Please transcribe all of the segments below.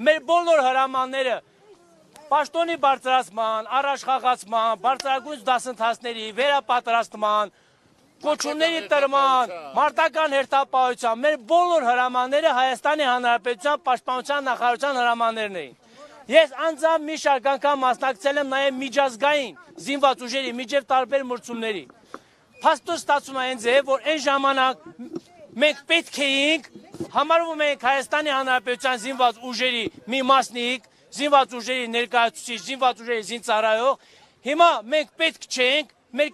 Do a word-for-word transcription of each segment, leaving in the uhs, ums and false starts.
Մեր բոլոր հրամանները պաշտոնի բարձրացման, առաջխաղացման, բարձրագույն դասընթացների, վերապատրաստման, կոչումների տրման, մարտական հերթապահության, մեր բոլոր հրամանները Հայաստանի Հանրապետության Պաշտպանության նախարարության հրամաններն էին։ Ես անձամբ մի շարք անգամ մասնակցել եմ նաև միջազգային զինված ուժերի միջև տարբեր մրցումների։ Փաստորեն ստացվում է այնձ է, որ այն ժամանակ մենք պետք էինք, համարվում ենք Հայաստանի Հանրապետության զինված ուժերի մի մասնիկ, զինված ուժերի ներկայացուցիչ, զինված ուժերի զինծառայող, հիմա մենք պետք չենք, մեր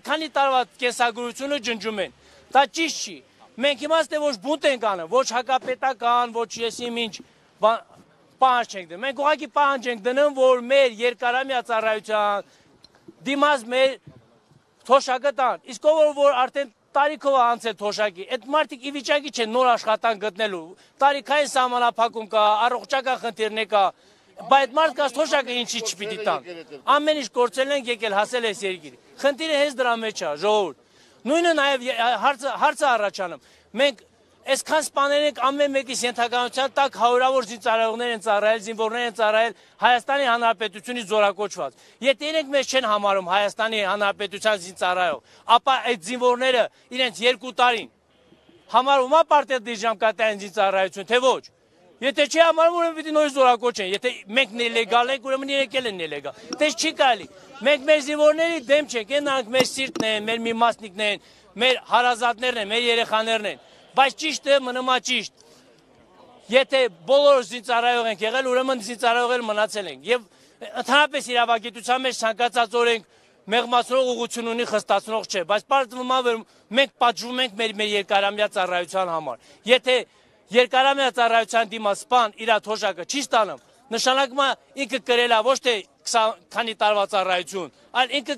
քանի տարվա կենսագրությունը ջնջում են։ Դա ճիշտ չի։ Մենք իմաստ է ոչ բունտ ենք անում, ոչ հակապետական, ոչ եսիմ ինչ պահանջ չենք դնում։ Մենք ուղղակի պահանջ ենք դնում, որ մեր երկարամյա ծառայության դիմաց մեր թոշակը տան։ Իսկ ով որ արդեն տարիքով անցել թոշակի, այդ մարդիկ ի վիճակի չեն նոր աշխատանք գտնելու։ Տարիքային սահմանափակում կա, առողջական խնդիրներ կա, բայց այդ մարդկանց թոշակը ինչի չպիտի տան։ Ամեն ինչ կորցրել ենք, եկել հասել այս երկիր։ Խնդիրը հենց դրա մեջ է, ժողովուրդ։ Նույնը նաև հարցը առաջանում։ Մենք այսքան սպաներ ենք ամեն մեկիս ենթականության տակ հարյուրավոր զինծառայողներ են ծառայել, զինվորներ են ծառայել Հայաստանի Հանրապետությունից զորակոչված։ Եթե իրենք մեզ չեն համարում Հայաստանի Հանրապետության զինծառայող, ապա այդ զինվորները իրենց երկու տարին համարում է պարտեզի ժամկետային զինծառայություն, թե ոչ։ Եթե չի համարում, ուրեմն պիտի նորից զորակոչեն։ Եթե մենք նելեգալ ենք, ուրեմն իրենք էլ են նելեգալ։ Դες չի կարելի։ Մենք մեր զինվորների դեմ չենք, այնանք մեր սիրտն են, մեր մի մասնիկն են, մեր հարազատներն են, մեր երեխաներն են։ Բայց ճիշտը մնում է ճիշտ։ Եթե բոլոր զինծառայող ենք եղել, ուրեմն զինծառայող էլ մնացել ենք։ Եվ ընդհանրապես իրավագիտության մեջ ցանկացած օրենք մեղմացնող ուղղություն ունի, խստացնող չէ, բայց պարզվում է, որ մենք պատժվում ենք մեր մեր երկարամյա ծառայության համար։ Եթե երկարամյա ծառայության դիմաց սպան իր թոշակը չի ստանում, նշանակում է ինքը կրել է ոչ թե քանի տարվա ծառայություն, այլ ինքը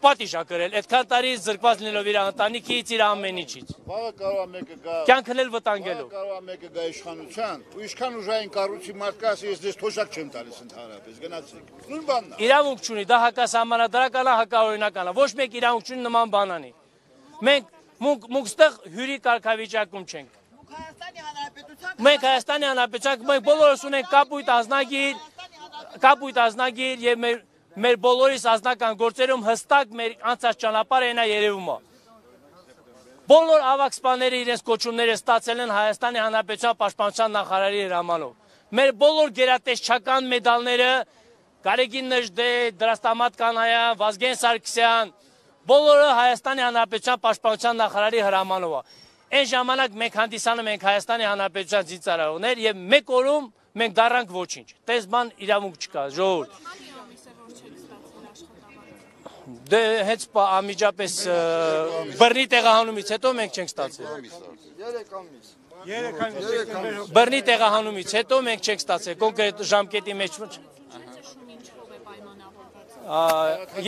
պատիժ է կրել, այդքան տարի զրկված լինելով իր ընտանիքից, իր ամեն ինչից։ Վաղը կարող է մեկը գա, կյանքն էլ վտանգելով։ Կարող է մեկը գա իշխանության, ու իշխան ուժային կառույցի մարդ կա, ես դες թոշակ չեմ տալիս ընդհանրապես, գնացեք։ Նույն բանն է։ Իրավունք չունի, դա հակասահմանադրական է, հակաօրինական է, ոչ մեկ իրավունք չունի նման բան անի։ Մենք մուկստեղ հյուրի կարգավիճակում չենք։ Մենք Հայաստանի Հանրապետության, մենք բոլորս ունենք կապույտ ազնագիր, կապույտ ազնագիր եւ մեր մեր բոլորիս ազնական գործերում հստակ մեր անցած ճանապարհը այնա երևում է։ Բոլոր ավագ սպաները իրենց կոչումները ստացել են Հայաստանի Հանրապետության Պաշտպանության նախարարի հրամանով։ Մեր բոլոր գերատեսչական մեդալները Գարեգին Նժդե, Դրաստամատ Կանայան, Վազգեն Սարգսյան, բոլորը Հայաստանի Հանրապետության Պաշտպանության նախարարի հրամանով է։ Այն ժամանակ մենք հանդիսանում ենք Հայաստանի Հանրապետության զինծառայողներ եւ մեկ օրում մենք դառանք ոչինչ։ Տես բան իրավունք չկա, ժողովուրդ։ Դե հենց անմիջապես բռնի տեղահանումից հետո մենք չենք ստացել։ երեք ամիս։ Բռնի տեղահանումից հետո մենք չենք ստացել, կոնկրետ ժամկետի մեջ։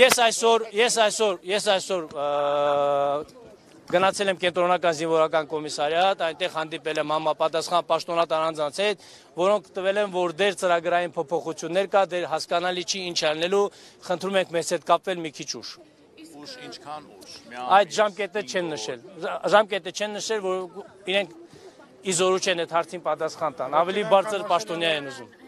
Ես այսօր, ես այսօր, ես այսօր գնացել եմ կենտրոնական զինվորական կոմիսարիատ, այնտեղ հանդիպել եմ համապատասխան պաշտոնատար անձանց հետ, որոնք տվել են, որ դեր ծրագրային փոփոխություններ կա, դեր հասկանալի չի ինչ անելու, խնդրում ենք մեզ հետ կապվել մի քիչ ուշ։ Ուշ ինչքան ուշ։ Այդ ժամկետը չեն նշել։ Ժամկետը չեն նշել, որ իրենք իզորու չեն այդ հարցին պատասխան տան, ավելի բարձր պաշտոնյա են ուզում։